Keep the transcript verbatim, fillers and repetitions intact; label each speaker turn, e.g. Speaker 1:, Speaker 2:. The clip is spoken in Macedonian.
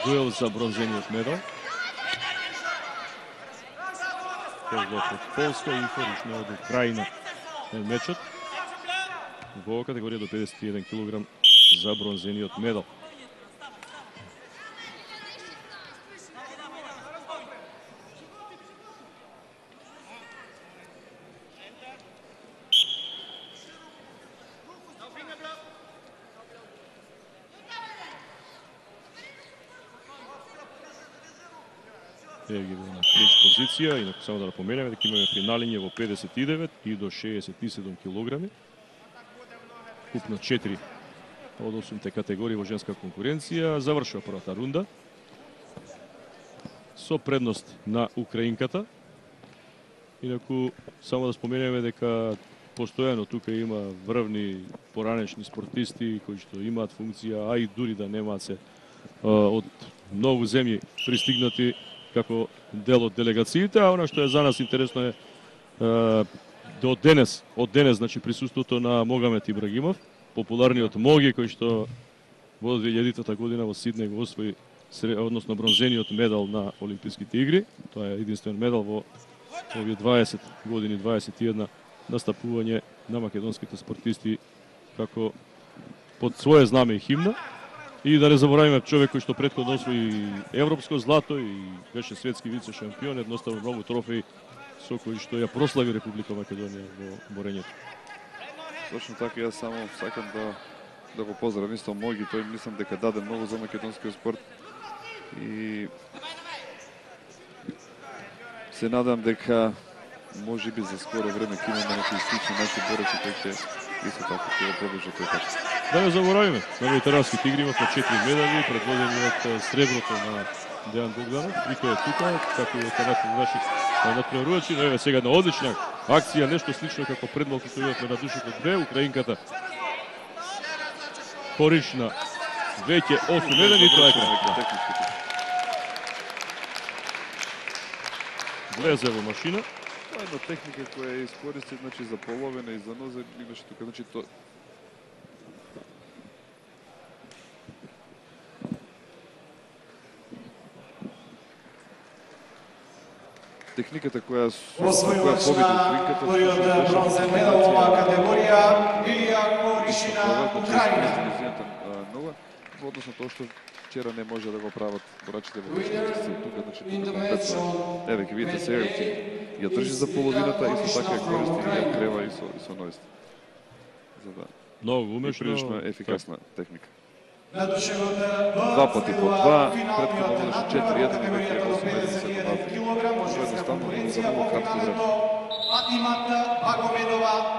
Speaker 1: дуел за бронзениот медал. Од Полска и вторично од Украина е мечот во категорија до педесет и еден килограм за бронзениот медал. Еве ги на клинч позиција, инаку само да напоменеме дека имаме финалиње во педесет и девет и до шеесет и седум килограми. Купно четири од осумте категории во женска конкуренција. Завршува првата рунда со предност на украинката. Инаку само да споменеме дека постојано тука има врвни поранешни спортисти кои што имаат функција, а и дури да немаат се од многу земји пристигнати како дел од делегациите, а она што е за нас интересно е, е до денес, од денес, значи присуството на Могамет Ибрагимов, популарниот Моги, кој што во две илјадитата година во Сиднеј го освои, односно бронзениот медал на Олимписките игри. Тоа е единствен медал во овие дваесет години, дваесет и една настапување на македонските спортисти како под свое знаме и химна. И да не заборавиме човек кој што претходно освои европско злато и беше светски вице шампион, едноставно многу трофеи со кои што ја прослави Република Македонија во борењето.
Speaker 2: Точно така, јас само сакам да да го поздравам исто Моги, тој мислам дека даде многу за македонскиот спорт и се надам дека можеби за скоро време ќе имаме некои слични наши борци кои ќе исто така ќе го продолжат тој пат.
Speaker 1: Да не заборавиме, на ветеранските игри имавме четири медали, предводени од среброто на Дејан Богданов, и тој е тука, како и ветеранот наши надпреварувачи, но еве сега една одлична акција, нешто слично како пред малку што видовме на Душето две, украинката Коришна веќе осум еден и тоа е крај. Влезе во машина.
Speaker 2: Тоа е една техника која ја искористи, значи за половина и за нозе, имаше тука, значи тоа техниката која која победи украинката
Speaker 3: првиот бронзен медал во оваа категорија Илија Коришина, Украина.
Speaker 2: Нова, во однос на тоа што вчера не може да го прават борачите во точниците тука, значи тука еве ќе видите сега ја држи за половината и со така ја користи и ја крева и со и со нојста. За да
Speaker 1: многу умешно,
Speaker 2: прилично ефикасна техника.
Speaker 3: Два
Speaker 2: Два пати по два, претходно водеше четири еден и веќе осум еден се добави. Едноставно за многу кратко време.
Speaker 3: Патимата Багомедова,